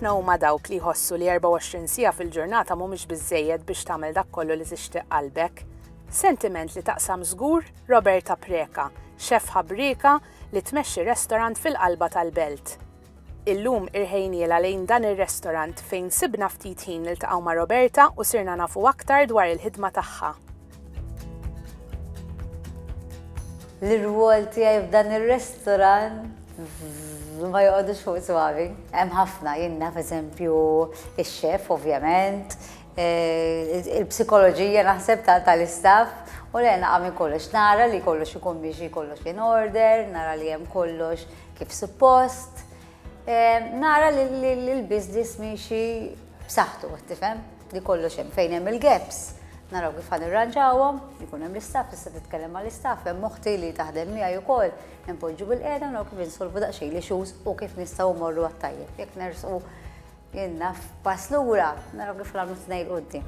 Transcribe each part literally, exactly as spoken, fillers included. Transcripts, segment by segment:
Ħafna huma dawk li jħossu li erbgħa u għoxrin siegħa fil-ġurnata mhumiex biżejjed biex tagħmel dak kollu li tixtieq qalbek. Sentiment li taqsam żgur Roberta Preka, xef ħabrika li tmexxi restorant fil-qalba tal-belt. Illum irħejniela lejn dan ir-restorant fejn sibna ftit ħin niltaqgħu ma' Roberta u sirna nafu aktar dwar il-ħidma tagħha. L-irwol tiegħi f'dan ir-restorant ma joqgħodux fuq swabi. Hemm ħafna, jien naf, eżempju, ix-chef ovvjament, eh, il-psikoloġija naħseb tal-istaff u le naqa' minn kollox nara li kollox ikun miexi, kollox in order, nara li hemm kollox kif suppost. Eh, nara li l-business miexi b'saħħtu, tifhem, li kollox hemm, fejn hemm il-gaps. Naraw kif ħa nirranġawhom, ikun hemm l-istaff, tista' titkellem mal-istaff, hemm oħti li taħdem miegħi wkoll, npoġġu bil-qiegħda, naraw kif insolvu daqsxejn l-issues u kif nistgħu mmorru għat-tajjeb. Jekk nersqu, jien naf, pass lura, naraw kif nagħmlu tnejn quddiem.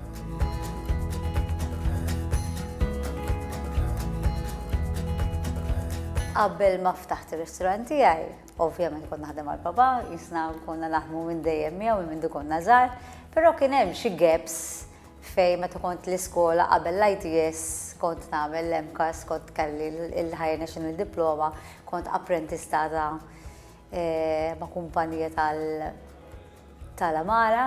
Qabel ma ftaħt ir-ristorant tiegħi, ovvjament kont naħdem mal-papa, jisna konna naħdmu minn dejjem miegħu minn mindu konna żgħar, però kien hemm xi gaps fej meta kont l-iskola qabel l-I T S kont nagħmel l-MCAST, kont kelli l-Higher National Diploma, kont apprentistata eh, ma' kumpanija tal-għamara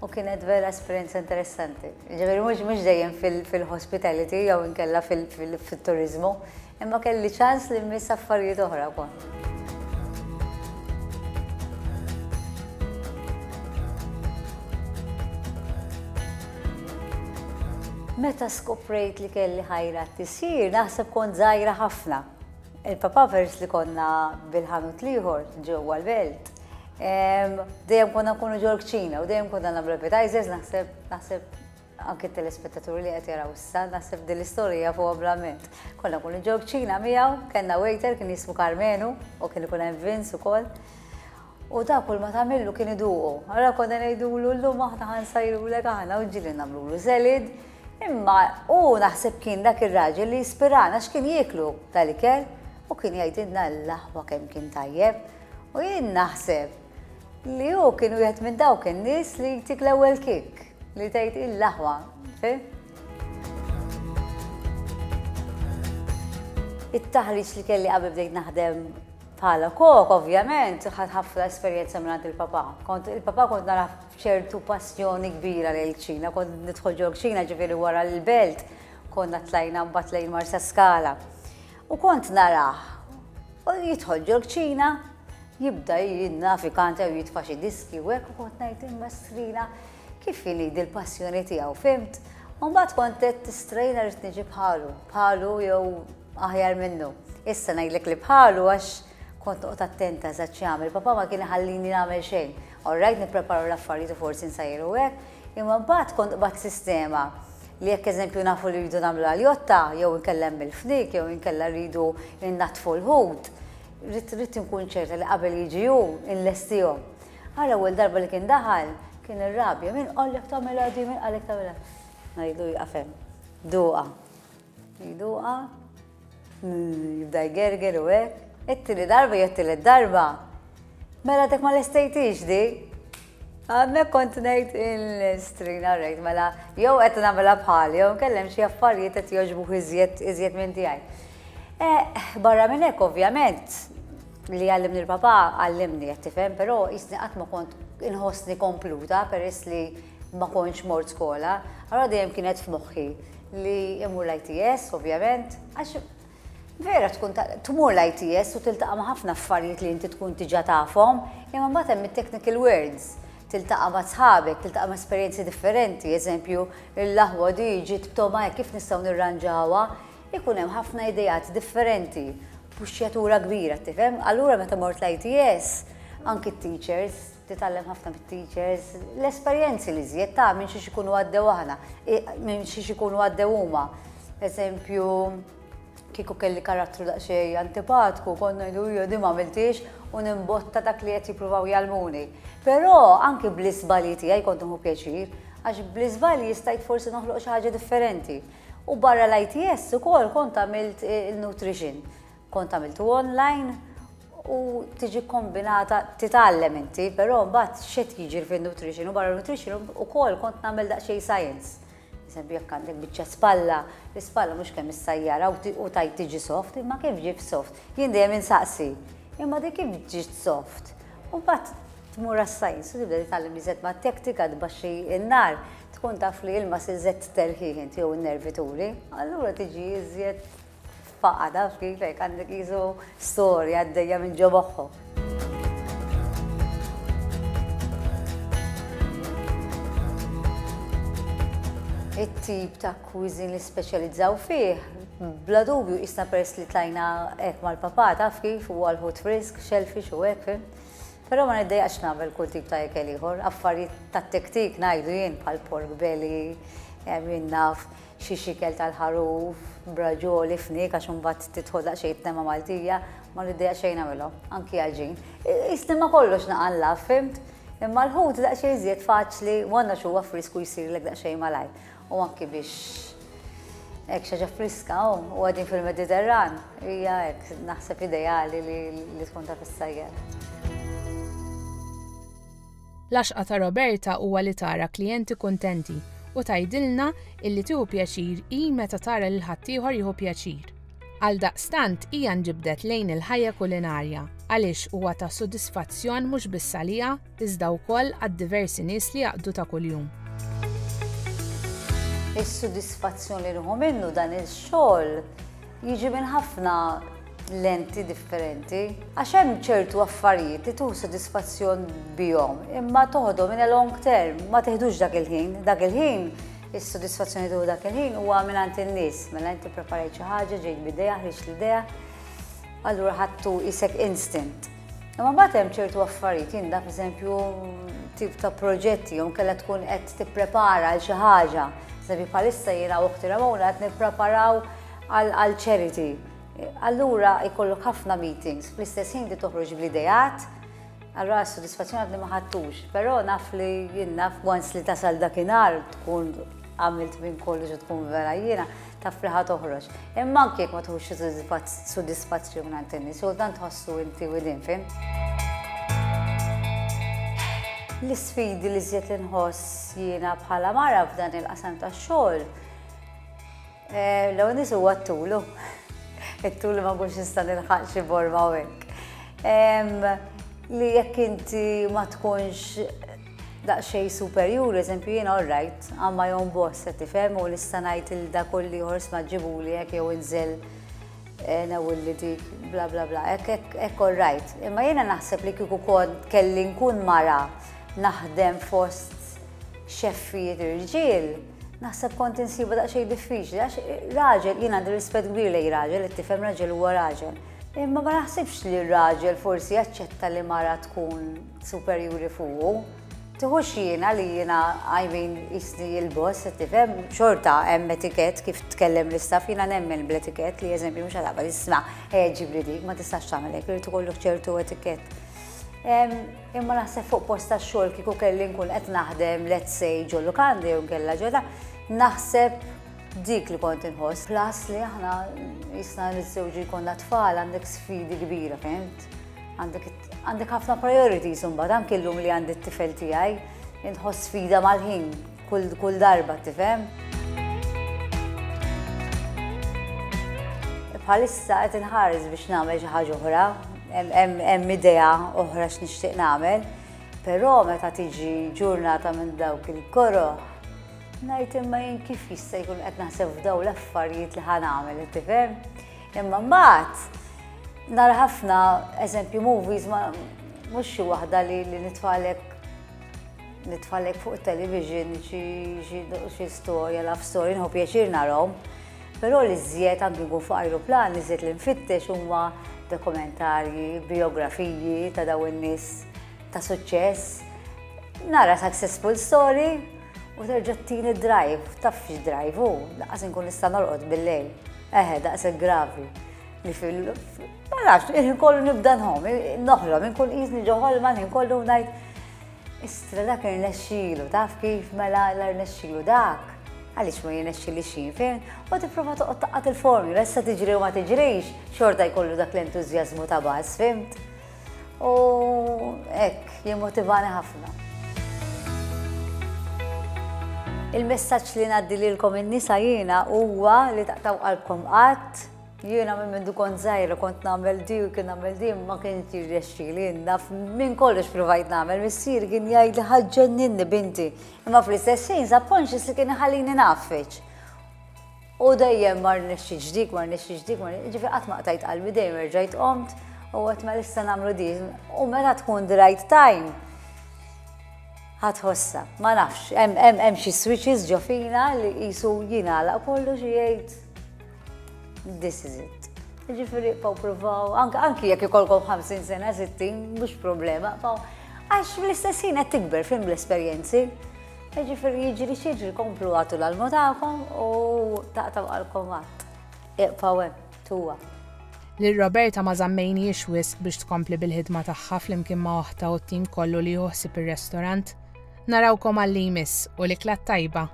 u kienet vera esperjenza interessanti. Ġifieri mhux mhux dejjem fil-hospitality jew inkella fil-turizmu, imma kelli ċans li mmiss affarijiet oħra wkoll. Meta skoprejt li kelli ħajra tisjir, naħseb kont żgħira ħafna. Il-papa, peress li konna bil-ħanut l-ieħor ġewwa l-belt, dejjem konna nkunu ġol kċina u dejjem konna nagħmlu appetizers, naħseb naħseb anke telespettaturi li qed jaraw issa, naħseb din l-istorja fuq oblament. Konna nkunu ġol kċina miegħu, kellna waiter kien jismu Carmenu u kien ikun hemm Vince ukoll. U da kull ma tagħmillu kien iduqu. Allora konna ngħidulu, "Llum aħna ħa nsajrulek aħna", u ġieli nagħmlulu salad. Imma u naħseb kien dak ir-raġel li jispirana, x'kien jieklu tal-ikel u kien jgħidilna l-aħwa kemm kien tajjeb. U jien naħseb li hu kien wieħed minn dawk in-nies li jtik l-ewwel kick li tgħid il-aħwa. It-taħriġ li kelli qabel bdejt naħdem bħala kok, ovvjament, ħadt ħafna esperjenza minn il-papa. Kont il-papa kont nara ċertu passjoni kbira lejn il-kċina, kont nidħol ġol kċina, ġifieri wara l-belt, konna tlajna mbagħad lejn Marsa Skala. U kont narah, u jidħol ġol kċina, jibda jinnafikanta u jitfa' xi diski u hekk, u kont ngħid, "Imma strina, kif inhi l-passjoni tiegħu?" Fhimt? U mbagħad kont qed tistrejna, rrid niġi bħalu, bħalu jew aħjar minnu. Issa ngħidlek li bħalu, għax kont noqgħod attenta eżatt x'jagħmel. Papa ma kien iħallini nagħmel xejn. All right, nippreparu l-affarijiet u forsi nsajru hekk, imma mbagħad kont qbadt sistema li jekk, eżempju, nafu li rridu nagħmlu aljotta, jew inkella il-fnik, jew inkella rridu nnaddfu l-ħut, rrid rrid nkun ċerta li qabel jiġi hu inlestihom. Għal ewwel darba li kien daħal, kien irrabja, "Min qallek tagħmilha di, min qallek tagħmilha?" Ngħidu, "Jaqfem, duqa." Duqa, jibda jgerger u hekk. It-tieni darba jew it-tielet darba, "Mela dak ma lestejtix di." Għammek kont ngħid, il-strina rejt, mela jew qed nagħmilha bħali, jew nkellem xi affarijiet qed jogħġbu iżjed iżjed minn tiegħi. Eh, barra minn hekk, ovvjament li għallimni l-papa għallimni, qed tifhem, però jisni qatt ma kont inħossni kompluta peress li ma kontx mort skola. Allora dejjem kienet f'moħħi li imur l-I T S, ovvjament, għax vera tkun tmur l-I T S u tiltaqa' ma' ħafna affarijiet li inti tkun diġà tafhom, imma mbagħad hemm it-technical words, tiltaqa' ma' sħabek, tiltaqa' ma' esperjenzi differenti, eżempju, l-aħwa di ġiet b'togħma, kif nistgħu nirranġawha, ikun hemm ħafna ideat differenti, puxxjatura kbira, tifhem? Allura meta mort l-I T S, anki t-teachers, titgħallem ħafna mit-teachers, l-esperjenzi li żjed ta' minn xiex ikunu għaddew aħna, minn xiex ikunu għaddew huma. Eżempju, kieku kelli karattru daqsxejn antipatku, konna ngħidu, "Jo, di ma għamiltix", u nimbotta dak li qed jippruvaw jgħallmuni. Però anki bl-iżbalji tiegħi kont nieħu pjaċir, għax bl-iżbalji stajt forsi noħloq xi ħaġa differenti. U barra l-I T S ukoll kont għamilt il-nutrition. Kont għamiltu online. U tiġi kombinata, titgħallem inti, però mbagħad x'qed jiġri fin-nutrition u barra nutrition ukoll kont nagħmel daqsxejn science. Eżempju, jekk għandek biċċa spalla, l-ispalla mhux kemm issajjara u tajt tiġi soft, imma kif ġib soft? Jien dejjem insaqsi, imma dik kif ġiet soft? U mbagħad tmur għas-science u tibda titgħallem iżjed ma' teknika, tbaxxi n-nar, tkun taf li ilma iżjed terħih inti jew in-nervituri, allura tiġi iżjed faqa, taf kif, hekk għandek jisu storja għaddejja minn ġo moħħok. It-tip ta' cuisine li speċjalizzaw fih, bla dubju isna peress li tlajna hekk mal-papà, taf kif, u għal-ħut frisk, shellfish u hekk, fim. Però ma niddejjaqx nagħmel kull tip ta' ikel ieħor, affarijiet ta' tektik ngħidu jien bħal pork belly, jien naf xi xikel tal-ħaruf, braġoli, fnik, għax imbagħad tidħol daqsxejn tema Maltija, ma niddejjaq xejn nagħmilhom, anki għaġin. Isni ma kollox naqalla, fimt? Imma l-ħut daqsxejn iżjed faċli, u għandna xuwa frisku jsirlek daqsxejn malajr. U anki biex hekk xi ħaġa friska u għadin fil-Mediterran, hija hekk naħseb ideali li, li tkun taf issajjar. L-għaxqa ta' Roberta huwa li tara klijenti kuntenti u tgħidilna illi tieħu pjaċir hi meta tara lil ħaddieħor jieħu pjaċir. Għal daqstant hija nġibdet lejn il-ħajja kulinarja għaliex huwa ta' sodisfazzjon mhux biss għaliha iżda wkoll għad-diversi nies li jaqdu ta' kuljum. Is-sodisfazzjon li nieħu minnu dan il-xogħol jiġi minn ħafna lenti differenti. Għax hemm ċertu affarijiet li tuħu sodisfazzjon bihom, imma toħodhom in a long term, ma teħdux dak il-ħin. Dak il-ħin, is-sodisfazzjoni tuħu dak il-ħin huwa mingħand in-nies. Mela inti preparajt xi ħaġa, ġejt b'idea, ħriġt l-idea, allura ħadtu isek instant. Imma mbagħad hemm ċertu affarijiet, jien naf eżempju tip ta' proġetti, jew kellha tkun qed tipprepara għal xi ħaġa. Eżempju, bħalissa jiena u oħti Ramona qed nippreparaw għal charity. Allura jkollok ħafna meetings, fl-istess ħin li toħroġ bl-idejat, allura s-sodisfazzjoni għadni ma ħadtux, però naf li jien naf once li tasal dakinhar tkun għamilt minn kollox u tkun vera jiena, taf li ħa toħroġ. Imma anke jekk ma tħux sodisfazzjoni minn għand in-nies, u dan tħossu inti within, fim? L-isfidi li żjed li nħoss jiena bħala mara f'dan il-qasam tax-xogħol, l-ewwel nies huwa t-tulu. It-tul ma nkunx nista' nilħaq xi borma u hekk. Li jekk inti ma tkunx daqsxejn superjuri, eżempju jiena all right, għamma jom boss, qed tifhem, u nista' ngħid il dak kolli ieħor ma ġibuli hekk jew inżel nawilli dik bla bla bla, hekk hekk all right. Imma jiena naħseb li kieku kont kelli nkun mara naħdem fost xeffijiet irġiel, naħseb kont insiba daqsxejn diffiċli, għax raġel, jien għandi rispett kbir lejn raġel, qed tifhem, raġel huwa raġel. Imma ma naħsibx li r-raġel forsi jaċċetta li mara tkun superjuri fuqu. Tiħux jiena li jiena, I mean, jisni il-boss, qed tifhem, xorta hemm etikett kif tkellem l-istaff, jiena nemmen bl-etikett li eżempju mhux għadha isma' ejja ġibli dik, ma tistax tagħmel hekk, irid ikollok ċertu etikett. Imma naħseb fuq post tax-xogħol kieku kelli nkun qed naħdem, let's say, ġo lukandi jew nkella ġodda, naħseb dik li kont inħoss. Plus li aħna jisna niżżewġu jkollna tfal, għandek sfidi kbira, fhimt? Għandek ħafna priorities imbagħad, anke llum li għandi t-tifel tiegħi, inħoss sfida mal-ħin kull, kull darba, tifhem? Bħalissa qed inħares biex nagħmel xi ħaġa oħra, hemm idea oħra x'nixtieq nagħmel, però meta tiġi ġurnata minn dawk il-koroħ, ngħid imma jien kif jista' jkun qed naħseb f'daw l-affarijiet li ħa nagħmel, tifhem? Imma mbagħad nara ħafna eżempju movies, ma mhux xi waħda li, li nitfalek nitfalek fuq television xi storja, love story, nħu pjaċir narahom. Però li żjed anki nkun fuq ajruplan, li żjed li nfittex huma dokumentarji, biografiji ta' daw in-nies ta' suċċess. Nara successful story u terġa' ttini drive, taf x'drive hu, daqs inkun nista' norqod bil-lejl. Eħe, daqshekk gravi. Li fil, ma nafx, il-ħin kollu nibda nħom, noħlom, inkun qisni ġo ħolma, il-ħin kollu ngħid, istra dak irnexxielu, taf kif mela l-irnexxielu dak. Għaliex ma jirnexxili xejn, fejn? U tipprova toqgħod taqqat il-formula, issa tiġri u ma tiġrix, xorta jkollu dak l-entużjażmu ta' baż, fimt? U hekk, jimmotivani ħafna. Il-messaġġ li ngħaddi lilkom in-nisa jiena huwa li taqtgħu qalbkom qatt. Jiena minn mindu kont żgħira kont nagħmel di u kien nagħmel di, ma kienx jirnexxieli, naf minn kollox provajt nagħmel. Missieri kien jgħidli ħa ġġenninni binti. Imma fl-istess ħin subconscious li kien iħallini ngħaffeġ. U dejjem ma rnexxix dik, ma rnexxix dik, ma rnexxix, ġifieri qatt ma qtajt qalbi, dejjem erġajt qomt u għedt ma issa nagħmlu di. U meta tkun the right time, ħa tħossha, ma nafx, hemm xi switches ġo fina li qisu jingħalaq kollox u jgħid this is it. Ġifieri ibqgħu provaw, anki jekk ikolkom ħamsin sena, sittin, mhux problema, għax fl-istess ħin qed tikber fim l-esperjenzi. Ġifieri jiġri x'jiġri, komplu agħtu l-almu tagħkom u taqtgħu qalbkom qatt. Ibqgħu hemm, tuha. Lil Roberta ma żammejniex wisq biex tkompli bil-ħidma tagħha flimkien ma' oħtha u t-tim kollu li ħsieb ir-restorant. Narawkom għal jmiss u l-ikla tajba.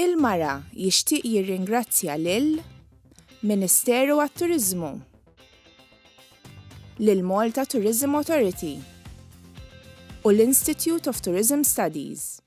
Il-Mara jixtieq jirringrazzja lil Ministeru għat-Turiżmu, lil Malta Tourism Authority u l-Institute of Tourism Studies.